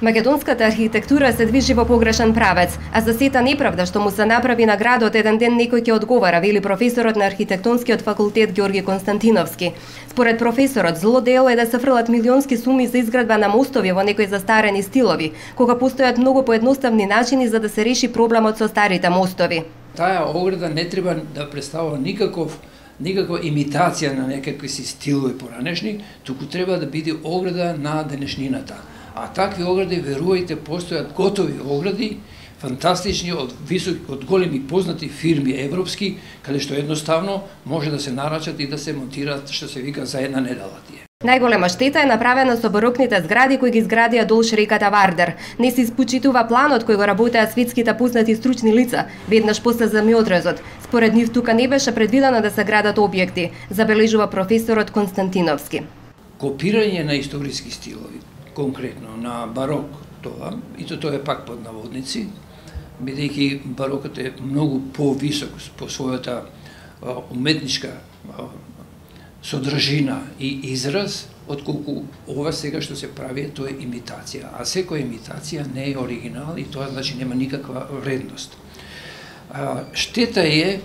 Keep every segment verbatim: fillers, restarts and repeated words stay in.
Македонската архитектура се движи во погрешен правец, а за сета неправда што му се направи на градот еден ден некој ќе одговара, вели професорот на архитектонскиот факултет Ѓорги Константиновски. Според професорот, зло дело е да се фрлат милионски суми за изградба на мостови во некои застарени стилови, кога постојат многу поедноставни начини за да се реши проблемот со старите мостови. Таа ограда не треба да представува никаков никаква имитација на некакви си стилови поранешни, туку треба да биде ограда на денешнината. А такви огради, верувајте, постојат готови огради, фантастични од високи, од големи познати фирми европски, каде што едноставно може да се нарачат и да се монтираат, што се вика, за една недела тие. Најголема штета е направена со барокните згради кои ги изградија долж реката Вардар. Не се испочитува планот кој го работеа светските познати стручни лица, веднаш после земјотресот. Според нив тука не беше предвидено да се градат објекти, забележува професорот Константиновски. Копирање на историски стилови, конкретно на барок тоа, и то тоа е пак под наводници, бидејќи барокот е многу повисок по својата уметничка содржина и израз, отколку ова сега што се прави, тоа е имитација. А секоја имитација не е оригинал и тоа значи нема никаква вредност. А, штета е,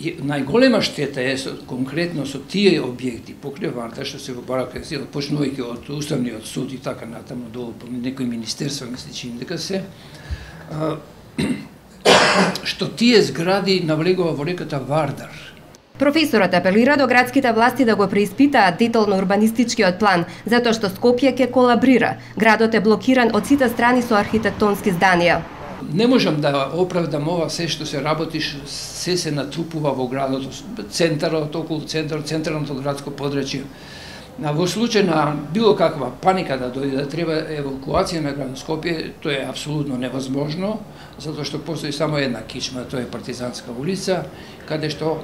најголема штета е со, конкретно со тие објекти покрај Вардар што се во барак, почнувајќи од Уставниот суд и така натаму долу по некои министерства, ми се чини дека се, а, што тие згради навлегува во реката Вардар. Професорот апелира до градските власти да го преиспитаат детално урбанистичкиот план, затоа што Скопје ќе колабрира. Градот е блокиран од сите страни со архитектонски зданија. Не можам да оправдам ова се што се работи, се се натрупува во градот, центарот, околу центарот, централното градско подрачје. Во случај на било каква паника да дојде, да треба евакуација на градот Скопје, тоа е апсолутно невозможно, затоа што постои само една кичма, тоа е Партизанска улица, каде што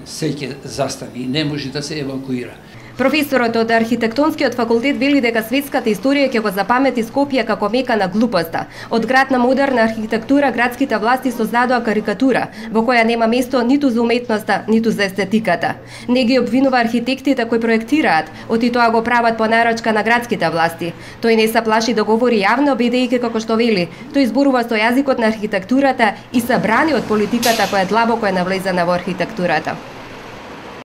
се ќе застани и не може да се евакуира. Професорот од архитектонскиот факултет вели дека светската историја ќе го запамети Скопје како мека на глупоста. Од град на модерна архитектура градските власти создадоа карикатура, во која нема место ниту за уметноста, ниту за естетиката. Не ги обвинува архитектите кои проектираат, оти тоа го прават по нарачка на градските власти. Тој не се плаши да говори јавно, бидејќи како што вели, тој зборува со јазикот на архитектурата и се брани од политиката која длабоко е навлезена во архитектурата.